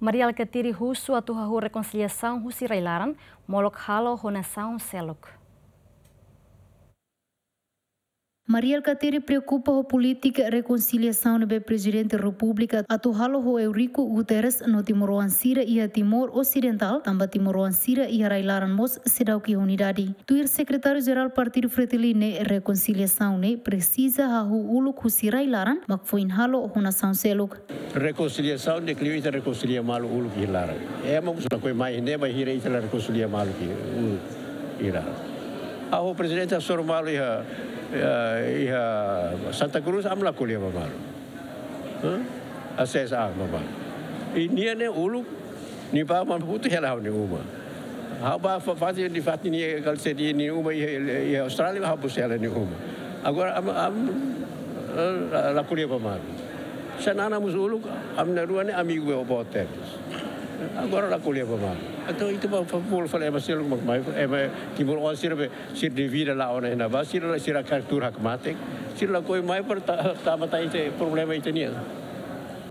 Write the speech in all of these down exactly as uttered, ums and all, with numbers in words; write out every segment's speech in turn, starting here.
Mari Alkatiri husu atu hahú rekonsiliasaun husi rai-laran, molok halo ho nasaun seluk. Mari Alkatiri preokupa ho polítika rekonsiliasaun ne'ebé Prezidente Repúblika atu halo ho Eurico Guterres no timoroan sira iha Timor Osidental, tanba timoroan sira iha rai-laran mós seidauk iha unidade. Tuir Sekretáriu Jerál Partidu Fretilin ne'e, rekonsiliasaun ne'e presiza hahú uluk husi rai-laran, mak foin halo ho nasaun seluk. Rekonsiliasaun ne'e kleur ita rekonsilia malu uluk iha laran. Ema mós lakohi mai ne'ebá hira ita la rekonsilia malu uluk iha laran. Ha'u ho Prezidente hasoru malu iha, iha, iha Santa Cruz, ami la ko'alia ba malu. Hã? Asesu ba malu. I nia ne'e uluk, nia bá Maputo hela ha'u-nia uma. Ha'u bá fa-, fatin, nia fatin nia kal sedi nia uma iha, iha Austrália, ha'u bá hela nia uma. Agora ami, ami, eh, la, la ko'alia ba malu. Xanana mós uluk, ami na'in-rua ne'e amigu boot tebes. Agora la ko'alia ba malu. Entaun ita bá fa-, bolu fali ema seluk mak mai, ema timoroan sira be, sira-nia vida la'o ona iha ne'ebá, sira, sira kaer tuur hakmatek, sira lakohi mai para ta-, tama tan ita problema ita-nian.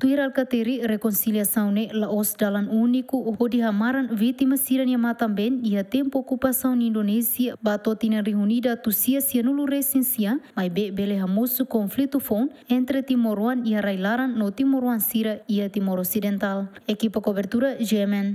Tuir Alkatiri, rekonsiliasaun ne'e la'ós dalan úniku hodi hamaran vítima sira-nia matan-been iha tempu okupasaun Indonézia ba to'o tinan rihun ida atus sia sianulu resin sia, maibé bele hamosu konflitu foun entre timoroan iha rai-laran no timoroan sira iha Timor Osidental. Ekipa kobertura, G M N.